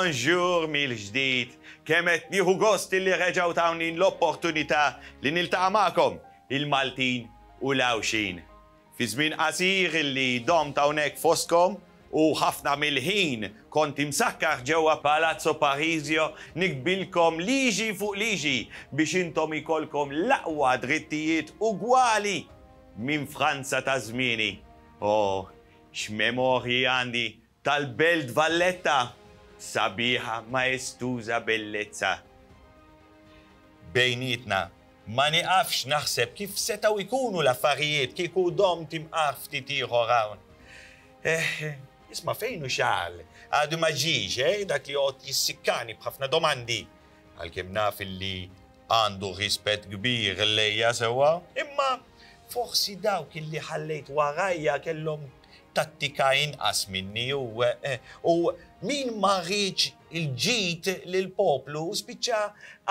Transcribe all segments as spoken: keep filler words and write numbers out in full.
Bonjour mill-ġdid. Kemm qed nieħu gost li reġgħu tawni l-opportunità li niltaqa' magħkom il-Maltin u l-Għawdxin. Fi żmien qasir li domt hawnhekk fostkom u ħafna mill-ħin kont imsakkar ġewwa Palazzo Parisio niktbilkom liġi fuq liġi biex intom ikolkom l-aqwa drittijiet ugwali minn Franza ta' żmieni. Oh, x'memorji għandi tal-Belt Valletta, sabiħa maestuża bellezza. Bejnietna, ma niqafx naħseb kif setgħu jkunu l-affarijiet kieku domt imqar ftit ieħor hawn. Eh, isma' fejn hu Charles? Għadu ma ġiex, eh, dak li joqgħod jissikkani b'ħafna domandi. Għalkemm naf illi għandu rispett kbir lejja sewwa, imma forsi dawk illi ħallejt warajja kellhom tattika inqas minni u, eh, u min ma riedx il-ġid lill-poplu spiċċa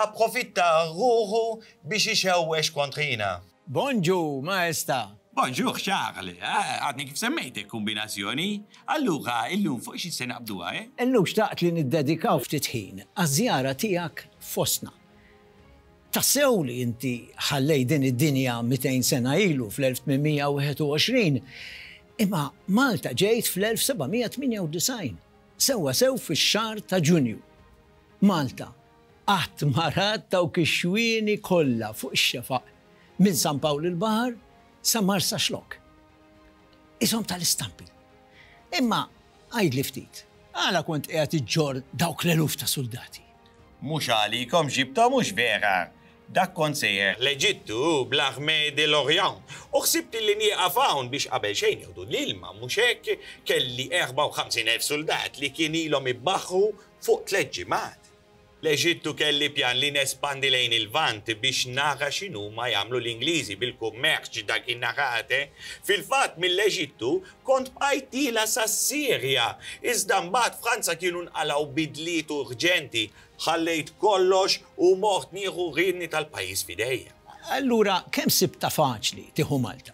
approfitta ruħu biex ixewwex kontrina. Bonġu, Maestà. Bonġur, Charles, eh, għadni kif semmejtek kombinazzjoni. Allura, illum fuq xi se naqbduha, eh? Illum xtaqt li niddedikaw ftit ħin għaż-żjara tiegħek fostna. Tassew li inti ħallejt din id-dinja mitejn sena ilu fl-elf tmien mija u wieħed u għoxrin, imma Malta ġejt fl-elf seba' mija tmienja u disgħin, sewwa sew fix-xahar ta' Ġunju. Malta qatt ma rat dawk ix-xwieni kollha fuq ix-xefaq minn San Pawl il-Baħar sa Marsaxlokk. Ishom tal-istampi. Imma għidli ftit, għala kont qiegħed iġġorr dawk l-eluf ta' soldati? Mhux għalikom ġibta, mhux vera. Dak kont sejjer l-Eġittu bl-Armée de l'Orient. U ħsibt li nieqaf hawn biex qabel xejn jieħdu l-ilma, mhux hekk? Kelli erbgħa u ħamsin elf soldat li kien ilhom ibbaħħru fuq tliet ġimgħat. L-Eġittu kelli pjan li nespandi lejn il-Lvant biex nara x'inhu ma jagħmlu l-Ingliżi bil-kummerċ dak in-narate. Fil-fatt mill-Eġittu kont bqajt tila sas-Sirja, iżda mbagħad Franza kienu nqalgħu bidliet urġenti, ħallejt kollox u mort nieħu riedni tal-pajjiż f'idejja. Allura, kemm sibta faċli tieħu Malta?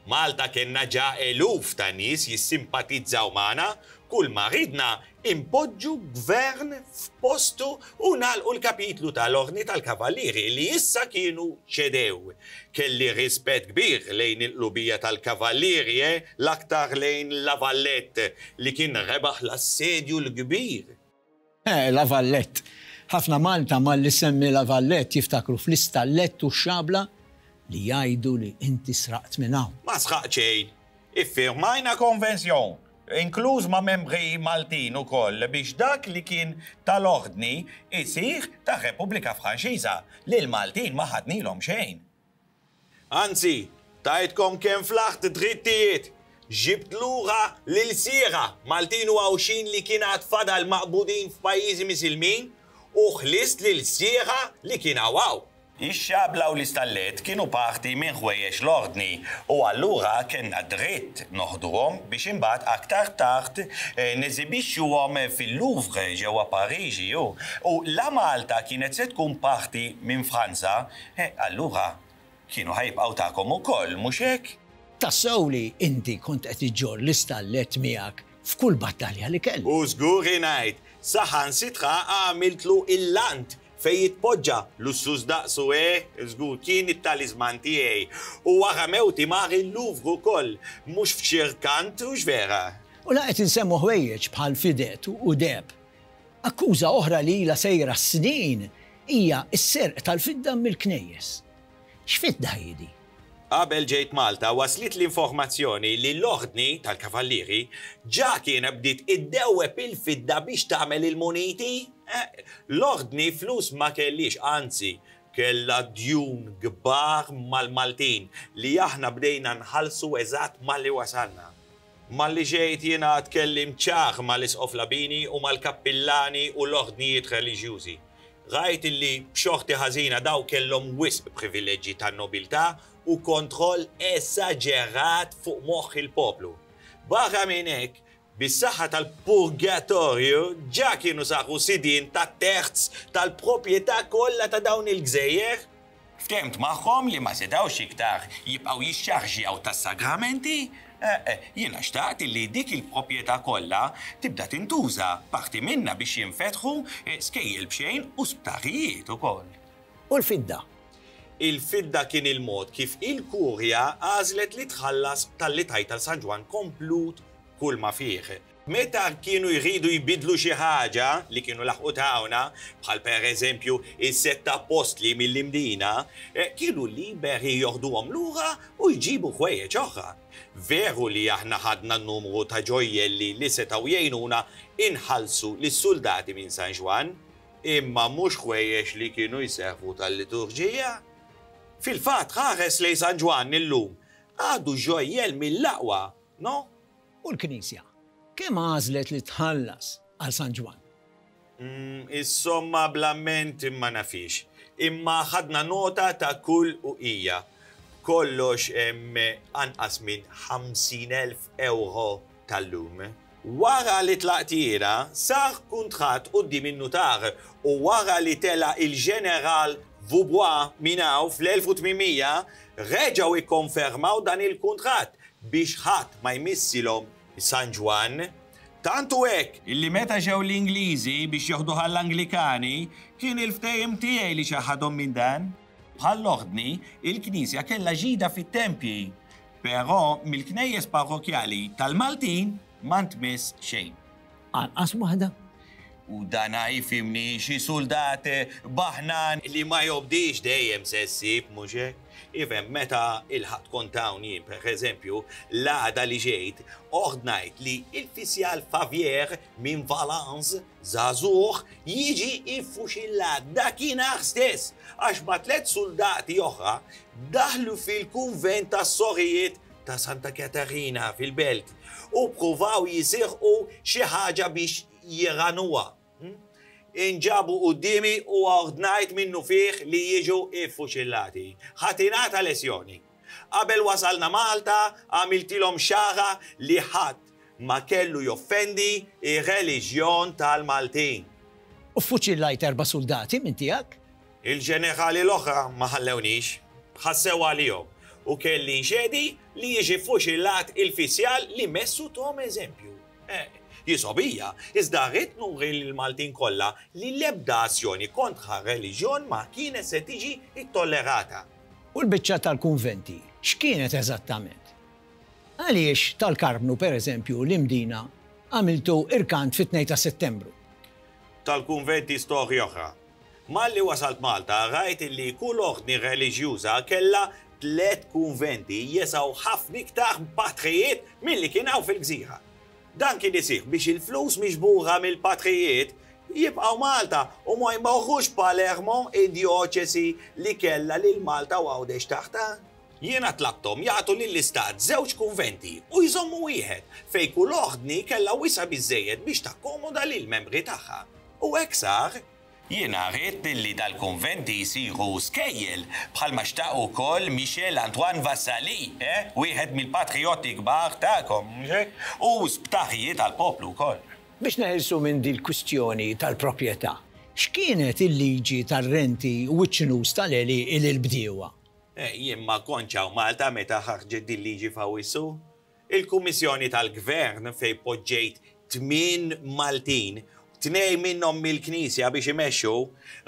Malta kellna ġa eluf ta' nies jissimpatizzaw magħna, kull ma ridna impoġġu gvern f'postu u nagħlqu l-kapitlu tal-Ordni tal-Kavallieri li issa kienu ċedew. Kelli rispett kbir lejn il-qlubija tal-Kavallieri, eh, l-aktar lejn La Valette li kien rebaħ l-assedju l-kbir. Eh, La Valette. Ħafna Malta malli semmi La Valette jiftakru fl-istallett u x-xabla li jgħidu li inti sraqt minn hawn. Ma sraqt xejn. Iffirmajna konvenzjon, inkluż ma' membri Maltin ukoll, biex dak li kien tal-ordni isir ta' Repubblika Franċiża, li l-Maltin ma ħadnilhom xejn. Anzi, tajtkom kemm flaħt drittijiet, ġibt lura lil sira Maltin u Għawdxin li kien għad fadal maqbudin f'pajjiżi Misilmin u ħlist lil sira li kien hawn. Ix-xabla u l-istallett kienu parti minn ħwejjeġ l-ordni u allura kellna dritt noħduhom biex imbagħad aktar tard, eh, neżibixxuhom fil-Louvre ġewwa Pariġi. U, u la Malta kienet se tkun parti minn Franza, eh, allura kienu ħajbqgħu tagħkom ukoll, mhux hekk? Tassew li inti kont qed iġġorr l-istallett miegħek f'kull battalja li kellu. U żgur ngħid, saħansitra għamiltlu il-lant fej jitpoġġa lussuż daqsu, eh, żgur kien it-talisman tiegħi. U wara mewti mar il-Louvre ukoll, mhux f'xi rkant, hux vera? U la qed insemmu ħwejjeġ bħal fidet u deheb. Akkuża oħra li ilha sejra snin hija s-serq tal-fidda mill-knejjes. X'fidda hi di? Qabel ġejt Malta waslit l-informazzjoni li l-ordni tal-Kavallieri ġa kien bdiet iddewweb il-fidda biex tagħmel il-muniti. Eh, l-ordni flus ma kellix, anzi, kella djun kbar mal-Maltin li aħna bdejna nħallsu eżatt malli wasalna. Malli ġejt jiena tkellim ċar mal-Isqof Labini u mal-kappillani u l-ordnijiet reliġjużi. Rajt illi b'xorti ħażina daw kellhom wisq privileġġi tan-nobiltà u kontroll esaġerat fuq moħħ il-poplu. Barra minn hekk, bis-saħħa tal-purgatorju ġa kienu saru sidien ta' terz tal-proprjetà kollha ta' dawn il-gżejjer. Ftemt magħhom li ma setgħux iktar jibqgħu jixxarġjaw tas-sagramenti, Jiena xtaqt li dik il-proprjetà kollha tibda tintuża parti minnha biex jinfetħu skejjel b'xejn u sptarijiet ukoll. U l-fidda? Il-fidda kien il-mod kif il-kurja għażlet li tħallas talli tajt għal San Ġwann komplut kull ma fih. Meta kienu jridu jbidlu xi ħaġa li kienu laħqu tawna, bħal per eżempju is-sett appostli mill-Imdina, kienu liberi joħduhom lura u jġibu ħwejjeġ oħra. Veru li aħna ħadna n-numru ta' ġojjelli li setgħu jgħinuna inħallsu lis-soldati minn San Ġwann, imma mhux ħwejjeġ li kienu jservu tal-liturġija. Fil-fatt ħares lejn San Ġwann illum għadu ġojjel mill-aqwa, no? U l-Knisja, kemm għażlet li tħallas għal San Ġwann? Is-somma bl-amment imma nafix. Imma ħadna nota ta' kull uqija. Kollox hemm anqas minn ħamsin elf euro tal-lum. Wara li tlaqt jiena, sar kuntratt quddiem in-nutar u wara li tela il-ġeneral Vaubois minn hawn fl-elf u tmien mija, reġgħu ikkonfermaw dan il-kuntratt biex ħadd ma jmissilhom San Ġwann. Tantu hekk illi meta ġew l-Ingliżi biex joħduha l-Anglikani, kien il-ftehim tiegħi li xaħadhom minn dan. Bħall-ordni, il-Knisja kellha ġida fit-tempji, però mill-knejjes parrokjali tal-Maltin ma ntmiss xejn. Anqas waħda. U dan jifhimni xi soldat baħnan li ma jobdix dejjem se ssib, mhux hekk? Ifhem, meta il-ħadd kont hawn jien, per eżempju, l-għada li ġejt, ordnajt li il-fisjal Favier minn Valence, żagħżugħ, jiġi iffuxillat dakinhar stess, għax ma tliet soldati oħra daħlu fil-kunvent tas-sorijiet ta' Santa Katarina fil-belt u ppruvaw jisirqu xi ħaġa biex jiranuha. Inġabu quddiemi u ordnajt minnu fih li jiġu iffuċillati. Ħatinata lezzjoni. Qabel wasalna Malta, għamiltilhom xara li ħadd ma kellu joffendi ir-reliġjon tal-Maltin. U ffuċillajt erba' soldati minn tiegħek? Il-ġenerali l-oħra ma ħallewniex, ħassew għalihom u kelli nxedi li jiġi ffuċillat il-fisjal li messu tom eżempju. Jisobija, iżda rrid nuri lill-Maltin kollha li l-ebda azzjoni kontra reliġjon ma kienet se tiġi ittollerata. U l-biċċa tal-kunventi, x'kienet eżattament? Għaliex tal-Karmnu, per eżempju, l-Imdina għamiltu irkant fit-tnejn ta' Settembru? Tal-kunventi storja oħra. Malli wasalt Malta rajt li kull ordni reliġjuża kellha tliet kunventi jesaw ħafna iktar patrijiet milli kien hawn fil-gżira. Dan kien isir biex il-flus miġbura mill-patrijiet jibqgħu Malta u ma jmorrux Palermo, id-dioċesi li kellha lil Malta u Għawdex taħta. Jiena tlabthom jagħtu lill-istat żewġ kunventi u jżommu wieħed fejn kull ordni kellha wisa' biżżejjed biex takkomoda lill-membri tagħha. U hekk sar. Jiena rrid li dal-kunventi jsiru skejjel bħalma xtaq ukoll Michel Antoine Vassali, eh? Wieħed mill-patrijotti kbar tagħkom, mhux hekk? U sptarijiet għall-poplu wkoll. Biex neħilsu minn din il-kwistjoni tal-proprjetà, x'kienet il-liġi tar-renti u ċ-ċnus tal-għelieqi lill-bdiewa? Jien ma kontx hawn Malta meta ħarġet din liġi f'Awwissu. Il-Kummissjoni tal-Gvern fejn poġġejt tmien Maltin, tnejn minnhom mill-Knisja biex imexxu,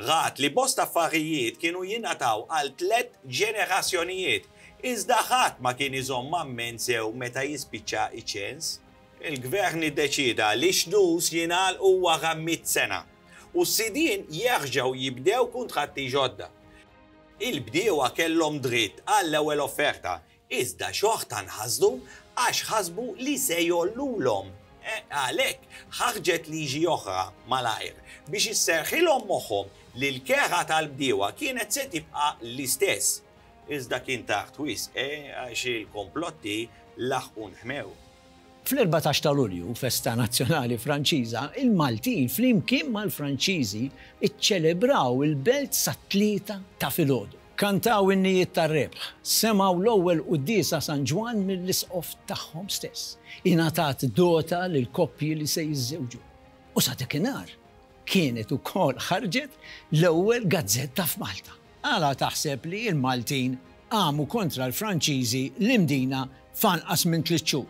rat li bosta affarijiet kienu jingħataw għal tliet ġenerazzjonijiet, iżda ħadd ma kien iżomm amment sew meta jispiċċa iċ-ċens. Il-Gvern iddeċida li xnus jingħalqu wara mitt sena u s-sidien jerġgħu jibdew kuntratti ġodda. Il-bdiewa kellhom dritt għall-ewwel offerta, iżda xorta nħasdu għax ħasbu li se jollulhom. Għalhekk ħarġet liġi oħra malajr biex isserħilhom moħħhom li l-kera tal-bdiewa kienet se tibqa' l-istess. Iżda kien tard wisq, għax il-komplotti laħqu nħmew. Fl-erbatax ta' Lulju, festa nazzjonali Franċiża, il-Maltin flimkien mal-Franċiżi iċċelebraw il-belt sat-tlieta ta' filgħodu. Kantaw innijiet tar-rebħ, semgħu l-ewwel quddiesa San Ġwann mill-isqof tagħhom stess. Ingħatat dota lil koppji li se jiżżewġu. U sa dakinhar kienet ukoll ħarġet l-ewwel gazzetta f'Malta. Għala taħseb li l-Maltin qamu kontra l-Franċiżi l-Imdina f'anqas minn tliet xhur?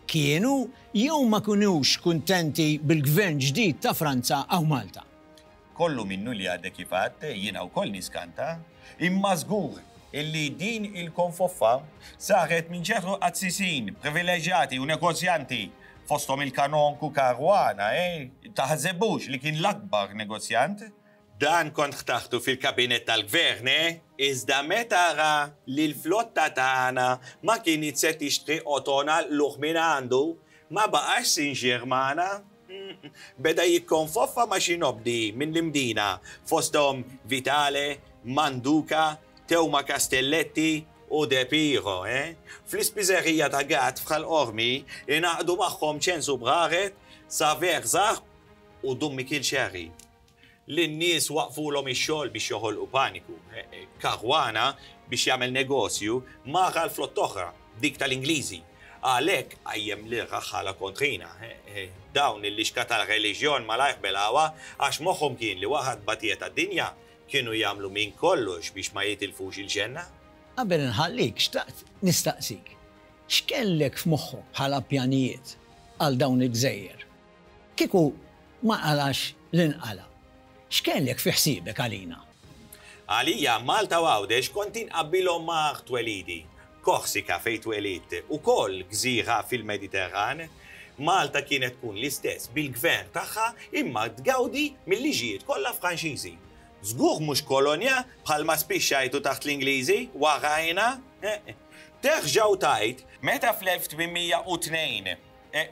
Kienu jew ma kinux kuntenti bil-gvern ġdid ta' Franza hawn Malta? Kollu minnu li għadek kif għedt, jiena wkoll niskanta, imma żgur illi din il-konfoffa saret minn ċertu qassisin, privileġġjati u negozjanti fosthom il-kanonku Caruana, eh? Taħsebux li kien l-akbar negozjant? Dan kont ħtartu fil-kabinet tal-gvern, eh? Iżda meta ra li l-flotta tagħna ma kinitx se tixtri qotona luħ minn għandu, ma baqax sinċier magħna. Beda jikkonfoffa ma' xi nobdi minn l-Imdina, fosthom Vitale, Manduca, Teuma Castelletti u De Piro, eh? Fl-ispiżerija ta' Gatt f'Ħal Qormi ingħaqdu magħhom Ċensu Braret, Saver Zarb u Dun Mikiel Xerri. Lin-nies waqfulhom ix-xogħol biex joħolqu paniku. Caruana biex jagħmel negozju mara l-flott oħra, dik tal-Ingliżi. Għalhekk qajjem lir-raħħala kontrina. Dawn il-lixka tal-reliġjon malajr belgħuha għax moħħhom kien li wara t-tbatija tad-dinja kienu jagħmlu minn kollox biex ma jitilfux il-ġenna. Qabel nħallik, xtaqt nistaqsik, x'kellek f'moħħok bħala pjanijiet għal dawn il-gżejjer? Kieku ma qalax l-inqala, x'kellek fi ħsiebek għalina? Għalija Malta u Għawdex kont inqabbilhom ma' art twelidi, Korsika fejn twelidt, ukoll gżira fil-Mediterran. Malta kienet tkun l-istess bil-gvern tagħha imma tgawdi mill-liġijiet kollha Franċiżi. Żgur mhux kolonja bħalma spiċċajtu taħt l-Ingliżi warajna. Terġa' u tgħid meta fl-elf tmien mija u tnejn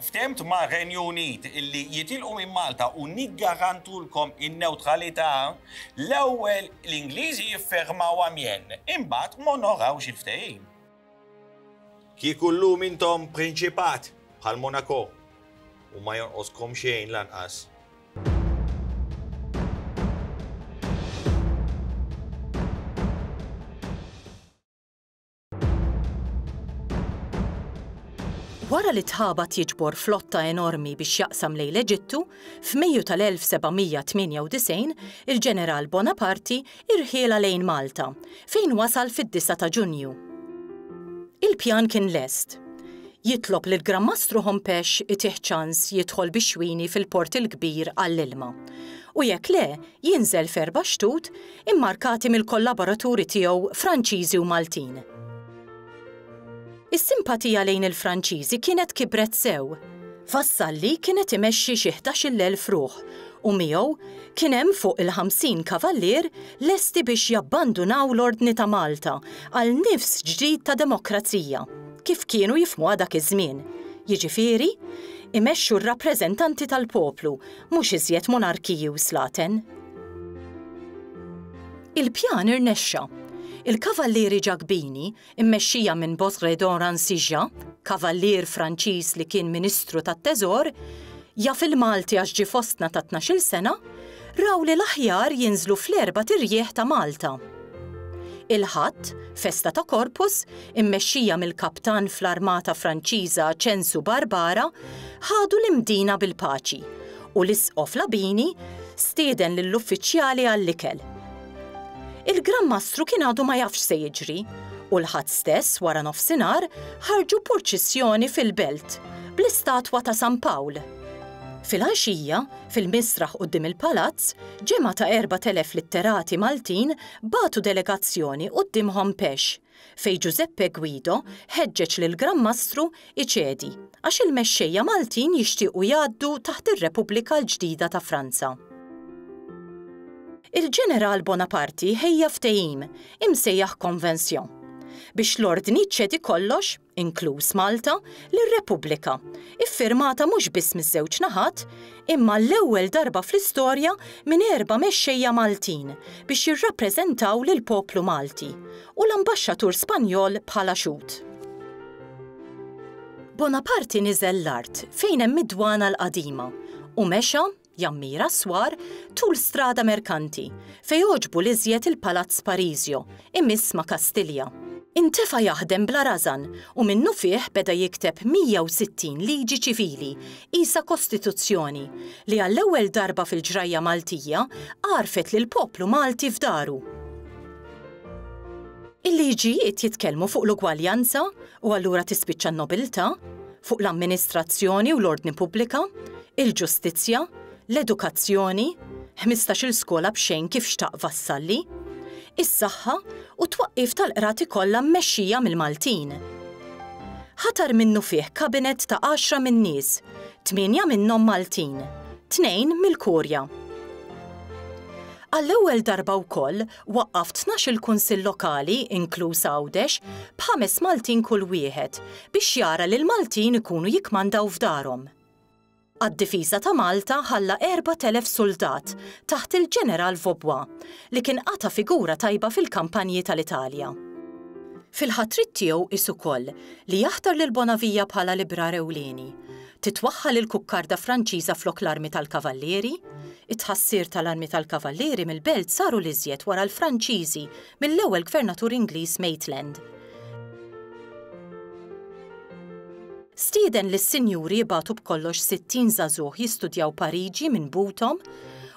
ftemt ma' Renju Unit illi jitilqu minn Malta u niggarantulkom in-neutralità, l-ewwel l-Ingliżi jiffirmaw Amiens, imbagħad m'onorawx il-ftehim. Kieku llum intom prinċipat bħal Monaco u ma jonqoskom xejn lanqas. Wara li tħabat jiġbor flotta enormi biex jaqsam lejn l-Eġittu, f'Mejju tal-elf seba' mija tmienja u disgħin il-ġeneral Bonaparte irħiela lejn Malta, fejn wasal fid-disgħa ta' Ġunju. Il-pjan kien lest. Jitlob lil Gran Mastru Hompesch itih ċans jidħol bix-xwini fil-Port il-Kbir għall-ilma. U jekk le, jinżel f'erba' xtut immarkati mill-kollaboraturi tiegħu Franċiżi u Maltin. Is-simpatija lejn il-Franċiżi kienet kibret sew. Vassalli kienet imexxi xi ħdax-il elf ruħ u miegħu kien hemm fuq il-ħamsin kavallier lesti biex jabbandunaw l-Ordni ta' Malta għal nifs ġdid ta' demokrazija, kif kienu jifhmuha dak iż-żmien. Jiġifieri, imexxu r-rappreżentanti tal-poplu, mhux iżjed monarkiji u slaten. Il-pjan irnexxa. Il-kavallieri Ġakbini, immexxija minn Bosredon Ransija, kavallier Franċiż li kien Ministru tat-Teżor, jaf il-Malti għax ġie fostna ta' tnax-il sena, raw li l-aħjar jinżlu fl-erba' tirjieħ ta' Malta. Il-Ħadd, festa ta' Corpus, immexxija mill-kaptan fl-Armata Franċiża Ċensu Barbara, ħadu l-Imdina bil-paċi u l-Isqof Labini stieden lill-uffiċjali għall-ikel. Il-Gran Mastru kien għadu ma jafx se jiġri u l-Ħadd stess wara nofsinhar ħarġu purċissjoni fil-belt bl-istatwa ta' San Pawl. Fil-għaxija, fil-misraħ quddiem il-palazz, ġemgħa ta' erbat elef litterati Maltin bagħtu delegazzjoni quddiem Hompesch, fejn Giuseppe Guido ħeġġeġ lil Gran Mastru iċedi għax il-mexxejja Maltin jixtiequ jgħaddu taħt ir-Repubblika l-ġdida ta' Franza. Il-ġeneral Bonaparte ħejja ftehim imsejjaħ Convention biex l-ordni ċedi kollox, inkluż Malta, lir-Repubblika, iffirmata mhux biss miż-żewġ naħat, imma l-ewwel darba fl-istorja minn erba' mexxejja Maltin biex jirrappreżentaw lill-poplu Malti u l-ambaxxatur Spanjol bħala xhud. Bonaparte niżel l-art fejn hemm id-dwana l-qadima u mexa jammira swar tul strada Merkanti fejn għoġbu l-iżjed il-Palazz Parisio imiss ma' Kastilja. Intefa jaħdem bla rażan u minnu fih beda jikteb mija u sittin liġi ċivili, qisha kostituzzjoni, li għall-ewwel darba fil-ġrajja Maltija għarfet lil poplu Malti f'daru. Il-liġijiet jitkellmu fuq l-ugwaljanza u allura tispiċċa n-nobiltà, fuq l-amministrazzjoni u l-ordni pubblika, il-ġustizzja, l-edukazzjoni, ħmistax-il skola b'xejn kif xtaq Vassalli, is-saħħa u t-twaqqif tal-qrati kollha mmexxija mill-Maltin. Ħatar minnufih kabinet ta' għaxra min-nies, tmienja minnhom Maltin, tnejn mill-Kurja. Għall-ewwel darba wkoll waqqaf tnax-il kunsill lokali, inkluż Għawdex, b'ħames Maltin kull wieħed biex jara li l-Maltin ikunu jikmandaw f'darhom. Għad-difiża ta' Malta ħalla erbat elef suldat taħt il-ġeneral Vaubois li kien qata' figura tajba fil-kampanji tal-Italja. Fil-ħatrit tiegħu qis ukoll li jaħtar lil Bonavia bħala librar ewlieni, titwaħħal il-kukkarda Franċiża flok l-armi tal-Kavallieri, it-tħassir tal-armi tal-Kavallieri mill-belt saru l-iżjed wara l-Franċiżi mill-ewwel gvernatur Ingliż Maitland. Stieden lis-sinjuri jibagħtu b'kollox sittin żagħżugħ jistudjaw Pariġi minn buthom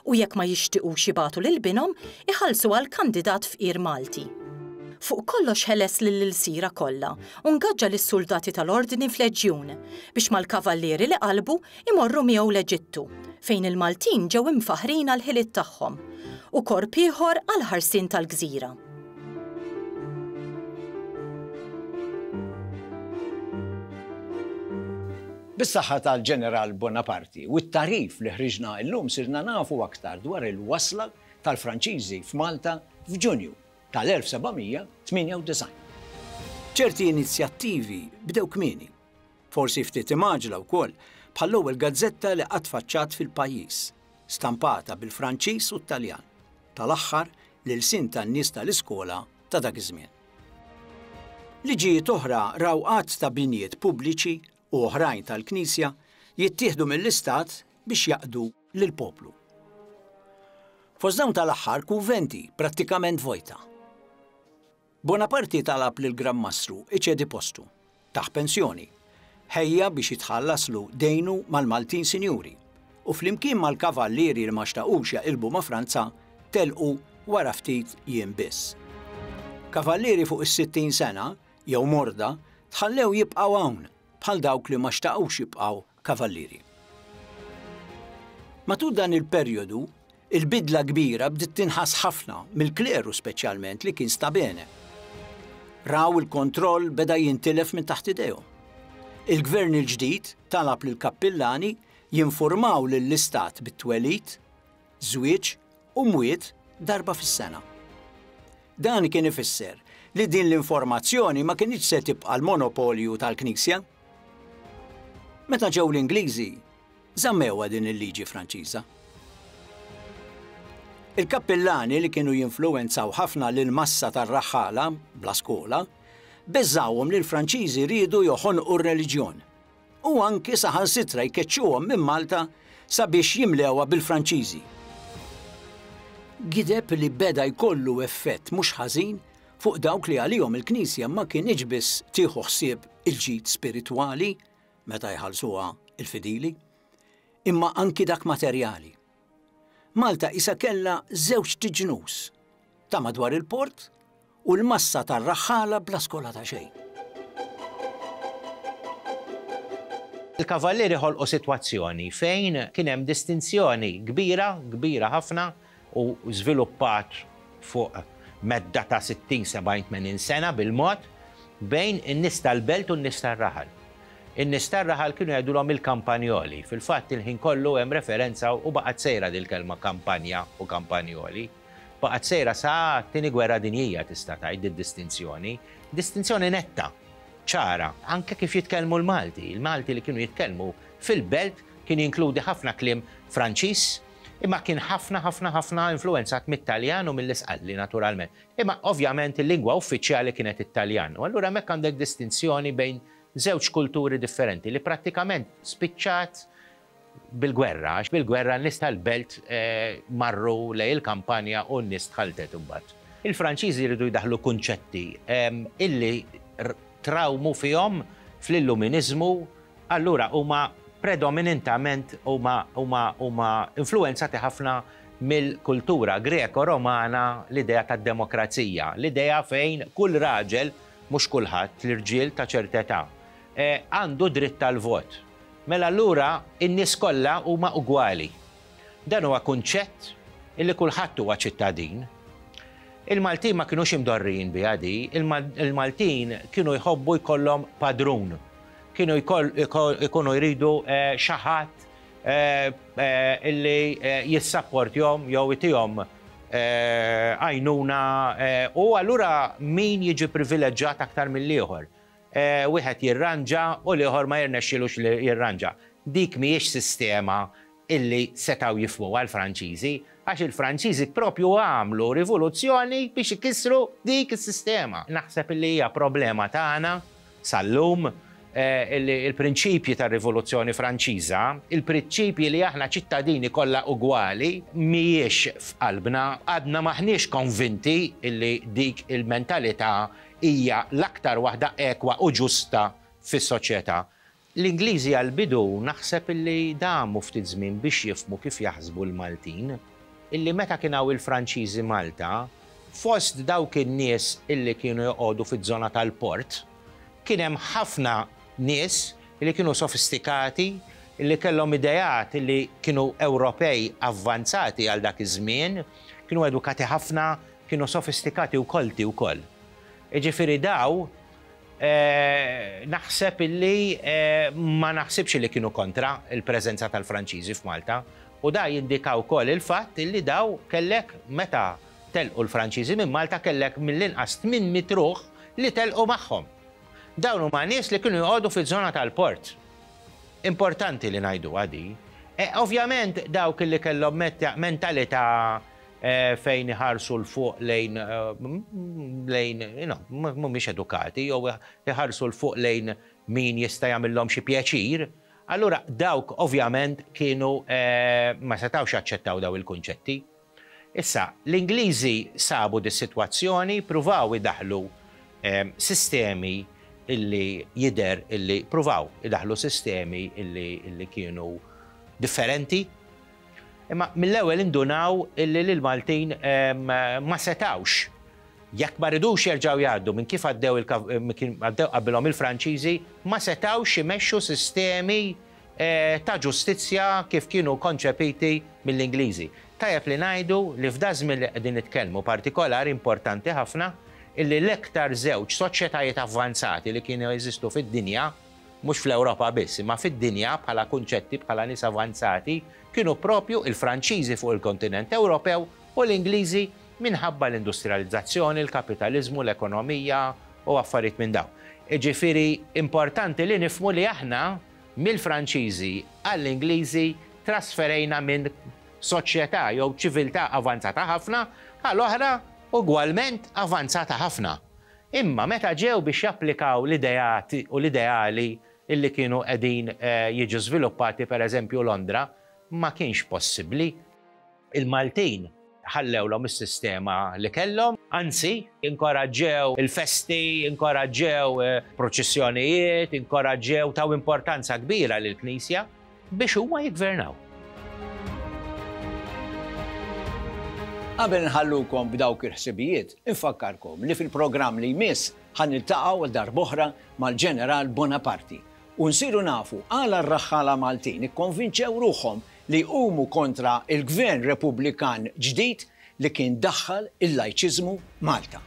u jekk ma jixtiequx jibagħtu lil binhom iħallsu għal kandidat fqir Malti. Fuq kollox ħeles lill-ilsira kollha u ngaġġa lis-soldati tal-ordni f'leġjun biex mal-kavallieri li qalbu imorru miegħu l-Eġittu, fejn il-Maltin ġew imfaħrin għall-ħiliet tagħhom u korp ieħor għall-ħarsien tal-gżira. Bis-saħħa tal-Ġeneral Bonaparte u t-tarif li ħriġna llum sirna nafu aktar dwar il-wasla tal-Franċiżi f'Malta f'Ġunju tal-elf seba' mija tmienja u disgħin. Ċerti inizjattivi bdew kmieni, forsi ftit imgħaġla wkoll, bħall-ewwel gazzetta li qatt faċċat fil-pajjiż, stampata bil-Franċiż u t-Taljan, tal-aħħar l-ilsien tan-nies tal-iskola ta' dak iż-żmien. Liġijiet oħra raw għadd ta' binjiet pubbliċi u oħrajn tal-Knisja jittieħdu mill-Istat biex jaqdu lill-poplu. Fost dawn tal-aħħar kunventi prattikament vojta. Bonaparte talab lil Gran Mastru iċedi postu, taħ pensjoni, ħejja biex jitħallaslu dejnu mal-Maltin Sinjuri u flimkien mal-kavallieri li ma xtaqux jaqilbu ma' Franza telqu wara ftit jiem biss. Kavallieri fuq is-sittin sena jew morda tħallew jibqgħu hawn bħal dawk li ma xtaqux jibqgħu kavallieri. Matul dan il-perjodu, il-bidla kbira bdiet tinħass ħafna mill-kleru speċjalment li kien sta bene. Raw il-kontroll beda jintilef minn taħt idejhom. Il-gvern il-ġdid talab lill-kappillani jinformaw lill-istat bit-twelid, żwieġ u mwiet darba fis-sena. Dan kien ifisser li din l-informazzjoni ma kinitx se tibqa' l-monopolju tal-Knisja. Meta ġew l-Ingliżi, żammewha din il-liġi Franċiża. Il-kappillani li kienu jinfluwenzaw ħafna lil massa tar-raħħala bla skola, beżawhom li l-Franċiżi riedu joħonqu r-reliġjon u anki saħansitra jkeċċuhom minn Malta sabiex jimlewha bil-Franċiżi. Gideb li beda jkollu effett mhux ħażin fuq dawk li għalihom il-Knisja ma kienx biss tieħu ħsieb il-ġid spiritwali meta jħallsuha il-fidili, imma anki dak materjali. Malta isa kellha żewġ tiġnus ta' madwar il-port u l-massa tar-raħħala bla skola ta' xejn. Il-kavallieri ħolqu sitwazzjoni fejn kien hemm distinzjoni kbira, kbira ħafna u żviluppat fuq medda ta' sittin, sebgħin, tmenin sena bil-mod bejn in-nies tal-belt u n-nies tar-raħal. In-nies tar-raħal kienu jgħidulhom il-kampanjoli. Fil-fatt il-ħin kollu hemm referenza u baqgħet sejra dil-kelma kampanja u kampanjoli. Baqgħet sejra sa t-tieni gwerra dinjija tista' tgħid id-distinzjoni. Distinzjoni netta, ċara, anke kif jitkellmu l-Malti. Il-Malti li kienu jitkellmu fil-belt kien jinkludi ħafna kliem Franċiż, imma kien ħafna, ħafna, ħafna influenzat mit-Taljan u mill-Isqalli naturalment. Imma ovvjament il-lingwa uffiċjali kienet it-Taljan. U allura hemmhekk għandek distinzjoni bejn żewġ kulturi differenti li prattikament spiċċat bil-gwerra, għax bil-gwerra n-nies tal-belt, eh, marru lejn il-kampanja u n-nies tħaltet imbagħad. Il-Franċiżi jridu jdaħlu kunċetti, ehm, illi r-, trawmu fihom fl-illuminizmu, allura huma predominantament huma, huma, huma influenzati ħafna mill-kultura Greko-Romana l-idea tad-demokrazija, l-idea fejn kull raġel, mhux kulħadd, l-irġiel ta' ċerta età, għandu dritt tal-vot. Mela allura in-nies kollha huma ugwali. Dan huwa kunċett illi kulħadd huwa ċittadin. Il-Maltin ma kinux imdorrijin biha di, il-Maltin kienu jħobbu jkollhom padrun. Kienu jkunu jridu xi ħadd illi jissapportjhom jew itihom għajnuna u allura min jiġi privileġġat aktar mill-ieħor. Wieħed jirranġa u l-ieħor ma jirnexxilux li jirranġa. Dik mhijiex sistema illi setgħu jifhmuha l-Franċiżi, għax il-Franċiżi propju għamlu rivoluzzjoni biex ikissru dik is-sistema. Naħseb illi hija problema tagħna sal-lum illi il-prinċipji tar-Rivoluzzjoni Franċiża, il-prinċipji li aħna ċittadini kollha ugwali, mhijiex f'qalbna, għadna maħniex konvinti illi dik il-mentalità hija l-aktar waħda ekwa u ġusta fis-soċjetà. L-Ingliżi għal-bidu naħseb illi damu ftit żmien biex jifhmu kif jaħsbu l-Maltin, illi meta kien hawn il-Franċiżi Malta, fost dawk in-nies illi kienu joqogħdu fiż-żona tal-port, kien hemm ħafna nies illi kienu sofistikati, illi kellhom ideat illi kienu Ewropej avvanzati għal dak iż-żmien, kienu edukati ħafna, kienu sofistikati u kolti wkoll. Jiġifieri daw naħseb illi ma naħsibx li kienu kontra il-preżenza tal-Franċiżi f'Malta, u da jindika wkoll il-fatt illi daw kellek meta telqu l-Franċiżi minn Malta kellek mill-inqas tmien mitt ruħ li telqu magħhom. Dawn huma nies li kienu joqogħdu fiż-żona tal-port. Importanti li ngħidu għadi. Ovvjament dawk li kellhom mentalità fejn iħarsu l fuq lejn lejn mhumiex edukati jew iħarsu l fuq lejn min jista' jagħmilhom xi pjaċir, allura dawk ovvjament kienu ma setgħux jaċċettaw daw il-kunċetti. Issa, l-Ingliżi sabu dis-sitwazzjoni, pruvaw idaħlu sistemi illi jidher illi pruvaw idaħlu sistemi illi kienu differenti. Imma mill-ewwel indunaw illi l-Maltin ma setawx. Jekk ma ridux jerġgħu jgħaddu minn kif għaddew għaddew qabilhom il-Franċiżi, ma setawx imexxu sistemi ta' ġustizzja kif kienu konċepiti mill-Ingliżi. Tajjeb li ngħidu li f'da żmien li qegħdin nitkellmu partikolari importanti ħafna illi l-iktar żewġ soċjetajiet avvanzati li kienu jeżistu fid-dinja, mhux fl-Ewropa biss, imma fid-dinja bħala kunċetti, bħala nies avanzati, kienu propju il-Franċiżi fuq il-kontinent Ewropew u l-Ingliżi minħabba l-industrializzazzjoni, il-kapitalizmu, l-ekonomija u affarijiet minn dawn. Jiġifieri importanti li nifhmu li aħna mill-Franċiżi għall-Ingliżi trasferejna minn soċjetà jew ċiviltà avanzata ħafna għal oħra ugwalment avanzata ħafna. Imma meta ġew biex japplikaw l-ideati u l-ideali illi kienu qegħdin jiġu żviluppati pereżempju Londra, ma kienx possibbli. Il-Maltin ħallewlhom is-sistema li kellhom, anzi, inkoraġġew il-festi, inkoraġġew proċessjonijiet, inkoraġġew taw importanza kbira lill-Knisja biex huma jiggvernaw. Qabel nħallukom b'dawk il-ħsibijiet, infakkarkom li fil-programm li jmiss ħa niltaqgħu għal darb'oħra mal-Ġeneral Bonaparte u nsiru nafu għala r-raħħala Maltin ikkonvinċew ruħhom li jqumu kontra il-Gvern Repubblikan ġdid li kien daħħal il-lajċiżmu Malta.